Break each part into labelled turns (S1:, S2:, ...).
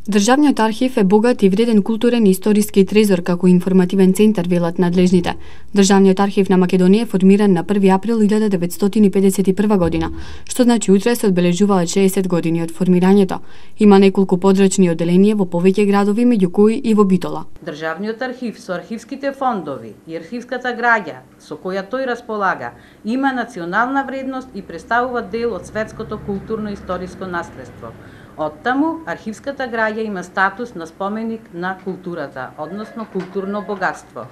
S1: Државниот архив е богат и вреден културен и историски трезор како информативен центар, велат надлежните. Државниот архив на Македонија е формиран на 1 април 1951 година, што значи утре се одбележуваат 60 години од формирањето. Има неколку подрачни одделенија во повеќе градови, меѓу кои и во Битола.
S2: Државниот архив со архивските фондови и архивската граѓа со која тој располага има национална вредност и представува дел од светското културно-историско наследство. Оттаму, архивската граѓа има статус на споменик на културата, односно културно богатство.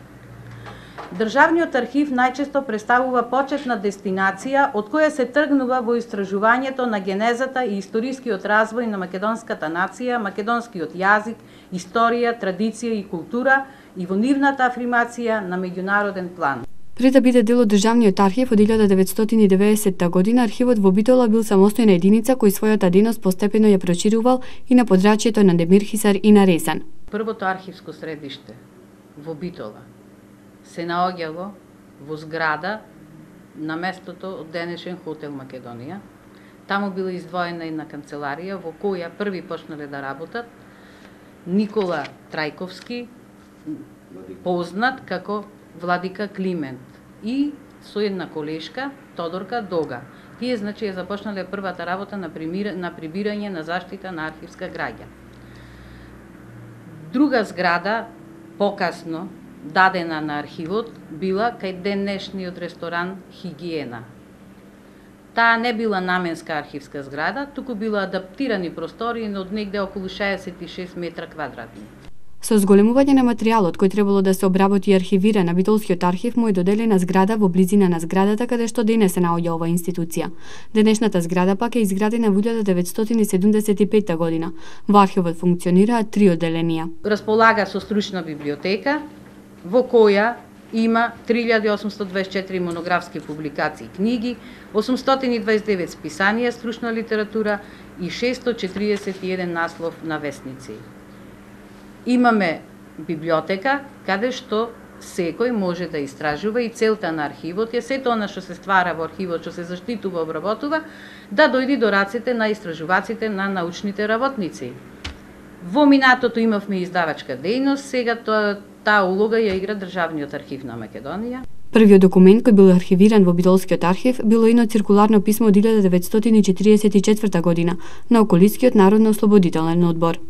S2: Државниот архив најчесто представува почетна дестинација од која се тргнува во истражувањето на генезата и историскиот развој на македонската нација, македонскиот јазик, историја, традиција и култура и во нивната афирмација на меѓународен план.
S1: Пред да биде дел од Државниот архив од 1990 година, архивот во Битола бил самостојна единица кој својата дејност постепено ја проширувал и на подрачјето на Демирхисар и на Резан.
S2: Првото архивско средиште во Битола се наоѓало во зграда на местото од денешен хотел Македонија. Таму била издвоена една канцеларија во која први почнале да работат Никола Трајковски, познат како Владика Климент, и со една колешка Тодорка Дога. Тие значи ја започнале првата работа на прибирање на заштита на архивска граѓа. Друга зграда покасно дадена на архивот била кај денешниот ресторан Хигиена. Таа не била наменска архивска зграда, туку била адаптирани простори од негде околу 66 метра квадратни.
S1: Со зголемување на материјалот кој требало да се обработи и архивира на Битолскиот архив му е доделена зграда во близина на зградата каде што денес се наоѓа оваа институција. Денешната зграда пак е изградена во 1975 година. Во архивот функционираат 3 одделенија.
S2: Располага со стручна библиотека во која има 3824 монографски публикации и книги, 829 списанија стручна литература и 641 наслов на весници. Имаме библиотека каде што секој може да истражува и целта на архивот е сето она што се ствара во архивот, што се заштитува, обработува, да дојде до рацете на истражуваците, на научните работници. Во минатото имавме издавачка дејност, сега таа улога ја игра Државниот архив на Македонија.
S1: Првиот документ кој бил архивиран во Битолскиот архив било едно циркуларно писмо од 1944 година на Околитскиот народно-ослободителен одбор.